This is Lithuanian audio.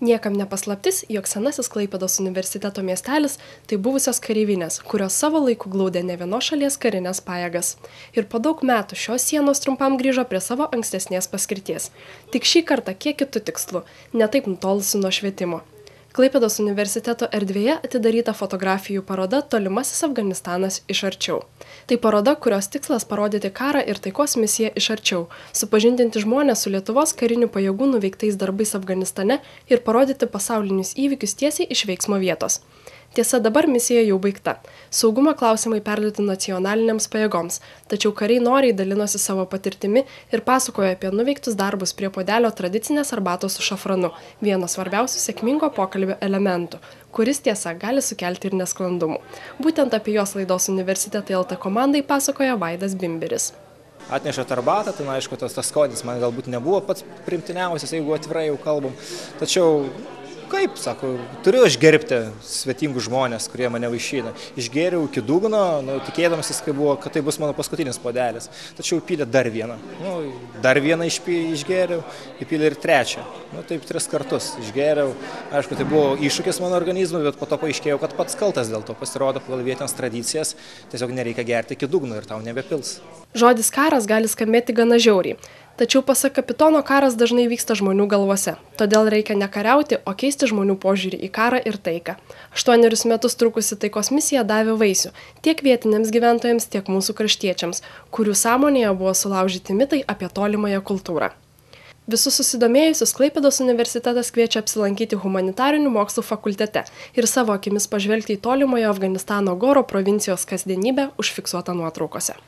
Niekam nepaslaptis, jog senasis Klaipėdos universiteto miestelis tai buvusios kareivinės, kurios savo laiku glaudė ne vienos šalies karinės pajėgas. Ir po daug metų šios sienos trumpam grįžo prie savo ankstesnės paskirties. Tik šį kartą kiek kitų tikslų, ne taip nutolusi nuo švietimo. Klaipėdos universiteto erdvėje atidaryta fotografijų paroda Tolimasis Afganistanas iš arčiau. Tai paroda, kurios tikslas parodyti karą ir taikos misiją iš arčiau, supažindinti žmonės su Lietuvos karinių pajėgų nuveiktais darbais Afganistane ir parodyti pasaulinius įvykius tiesiai iš veiksmo vietos. Tiesa, dabar misija jau baigta. Saugumo klausimai perduoti nacionalinėms pajėgoms, tačiau kariai noriai dalinosi savo patirtimi ir pasakojo apie nuveiktus darbus prie puodelio tradicinės arbatos su šafranu, vieno svarbiausių sėkmingo pokalbio elementų, kuris tiesa gali sukelti ir nesklandumų. Būtent apie jos laidos Universitetai LT komandai pasakoja Vaidas Bimbiris. Atnešėt arbatą, tai aišku, tas skonis man galbūt nebuvo pats primtiniausias, jeigu atvirai jau kalbam. Tačiau kaip, sako, turiu aš gerbti svetingus žmonės, kurie mane vaišina. Išgėriau iki dugno, tikėdamasis, kad tai bus mano paskutinis puodelis. Tačiau įpylė dar vieną. Dar vieną išgėriau, įpylė ir trečią. Taip 3 kartus išgėriau. Aišku, tai buvo iššūkis mano organizmui, bet po to paaiškėjau, kad pats kaltas dėl to. Pasirodo, pagal vietines tradicijas tiesiog nereikia gerti iki dugno ir tau nebepils. Žodis karas gali skambėti gana žiauriai. Tačiau pasak kapitono, karas dažnai vyksta žmonių galvose. Todėl reikia ne kariauti, o keisti žmonių požiūrį į karą ir taiką. 8 metus trukusi taikos misija davė vaisių tiek vietiniams gyventojams, tiek mūsų kraštiečiams, kurių sąmonėje buvo sulaužyti mitai apie tolimąją kultūrą. Visus susidomėjusius Klaipėdos universitetas kviečia apsilankyti humanitarinių mokslų fakultete ir savo akimis pažvelgti į tolimojo Afganistano Goro provincijos kasdienybę užfiksuotą nuotraukose.